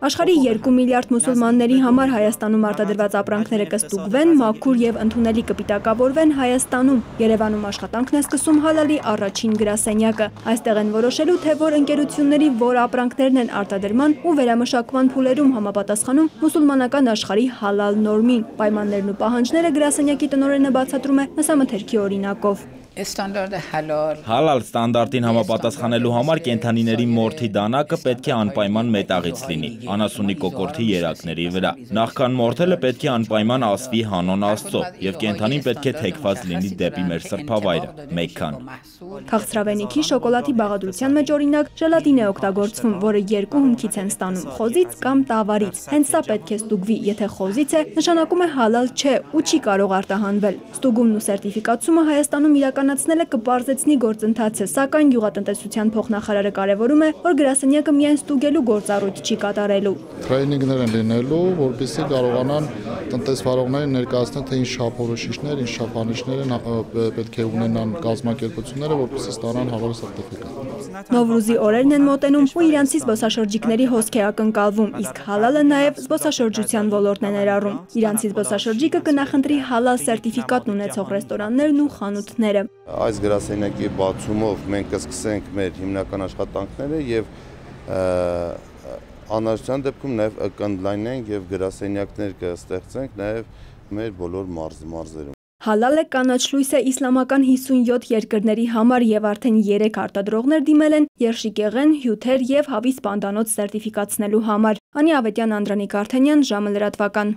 Աշխարհի 2 միլիարդ մուսուլմանների համար Հայաստանում արտադրված ապրանքները կստուգվեն, մաքուր եւ ընդունելի կպիտակավորվեն Հայաստանում։ Երևանում աշխատանքն է սկսում հալալի առաջին գրասենյակը։ Այստեղ են որոշելու, թե որ ընկերությունների որ ապրանքներն են արտադրման ու վերամշակման փուլերում համապատասխանում մուսուլմանական աշխարհի հալալ նորմին։ Պայմաններն ու պահանջները գրասենյակի տնօրենը բացատրում է նսամթերքի օրինակով։ Հալալ ստանդարտին համապատասխանելու համար կենդանիների մորթի դանակը պետք է անպայման մետաղից լինի, անասունի կոկորդի երակների վրա։ Նախքան մորթելը պետք է անպայման ասվի հանուն Աստծո, եւ կենդանին պետք է թեքված լինի դեպի մեր սրբավայրը, Մեքքան։ Քաղցրավենիքի շոկոլադի բաղադրության մեջ օրինակ ժելատին է օգտագործվում, որը երկու հումքից են ստանում՝ խոզից կամ տավարից։ Հենց սա պետք է ստուգվի, եթե խոզից է, նշանակում է հալալ չէ ու չի կարող արտահանվել։ Ստուգումն ու սերտիֆիկացումը Հայաստանում իրականացնելը կպարզեցնի գործընթացը, սակայն գյուղատնտեսության փոխնախարարը կարևորում է, որ գրասենյակը միայն ստուգելու գործառույթ չի կատարելու։ Թրեյնինգներ են լինելու, որպեսզի կարողանան տնտեսվարողներին ներկայացնել, թե ինչ շահփորոշիչներ, ինչ շափանիշներ պետք է ունենան կազմակերպությունները, որպեսզի ստանան հալալ սերտիֆիկատ։ Նովրուզի օրերն են մոտենում ու իրանցի զբոսաշրջիկների հոսք է ակնկալվում, իսկ հալալը նաև զբոսաշրջության ոլորտն է ներառում։ Իրանցի զբոսաշրջիկը կնախընտրի հալալ սերտիֆիկատն ունեցող ռեստորաններն ու խանութները։ Այս գրասենյակի բացումով մենք կսկսենք մեր հիմնական աշխատանքները եւ անհրաժեշտության դեպքում նաև կընդլայնենք եւ գրասենյակներ կստեղծենք նաև մեր բոլոր մարզերում։ Հալալը կանաչ լույս է իսլամական 57 երկրների համար եւ արդեն 3 արտադրողներ դիմել են երշիկեղեն, հյութեր եւ հավիս պանդանոց սերտիֆիկացնելու համար։ Անի Ավետյան, Անդրանիկ Արթենյան, ժամը լրատվական։